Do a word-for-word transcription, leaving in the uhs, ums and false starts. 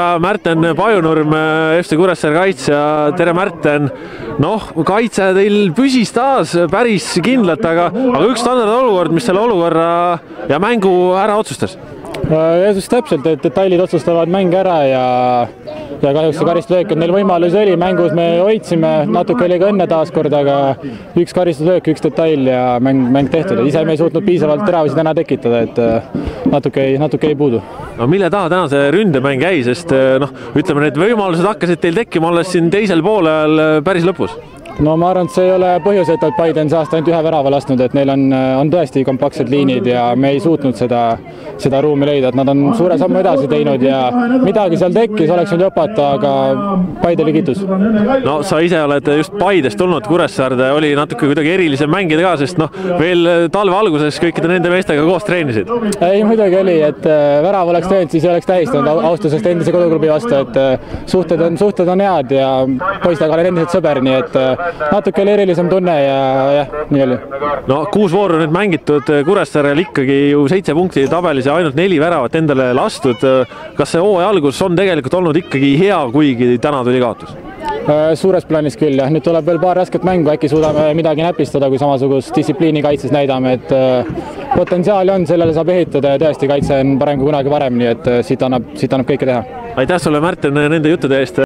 Märten Pajunurm, F C Kuressaare kaitsja, tere Märten. Noh, kaitse teil püsis taas päris kindlalt, aga, aga üks standardolukord, mis selle olukorra ja mängu ära otsustas? Just täpselt, et detailid otsustavad mänge ära ja, ja kahjuks see karistuslöök, et neil võimalus oli, mängus me hoidsime, natuke oli ka õnne taaskord, aga üks karistuslöök, üks detail ja mäng, mäng tehtud. Ise me ei suutnud piisavalt teravasid täna tekitada, et natuke ei, natuke ei puudu. No mille taha täna see ründemäng jäi, sest noh, ütleme, need võimalused hakkasid teil tekkima alles siin teisel poolel päris lõpus? No ma arvan, et see ei ole põhjus, et Paide on see aasta ainult ühe värava lasknud, et neil on, on tõesti kompaktsed liinid ja me ei suutnud seda, seda ruumi leida, et nad on suure sammu edasi teinud ja midagi seal tekkis, oleks võinud jopata, aga Paide oli kiitus. No sa ise oled just Paidest tulnud, Kuressaarde oli natuke kuidagi erilisem mängida ka, sest noh, veel talve alguses kõikide nende meestega koos treenisid. Ei, muidugi oli, et värav oleks teinud, siis ei oleks tähistanud austusest endise koduklubi vastu, et suhted on, suhted on head ja poistega olen endiselt sõber, nii et natuke oli erilisem tunne ja jah, nii oli. No kuus vooru nüüd mängitud, Kuressaarel ikkagi ju seitse punkti tabelis ja ainult neli väravat endale lastud. Kas see hooaja algus on tegelikult olnud ikkagi hea, kuigi täna tuli kaotus? Suures plaanis küll, jah. Nüüd tuleb veel paar rasket mängu, äkki suudame midagi näpistada, kui samasugust distsipliini kaitses näidame, et potentsiaali on, sellele saab ehitada ja tõesti kaitse on parem kui kunagi varem, nii et siit annab, siit annab kõike teha. Aitäh sulle, Märten, nende juttude eest!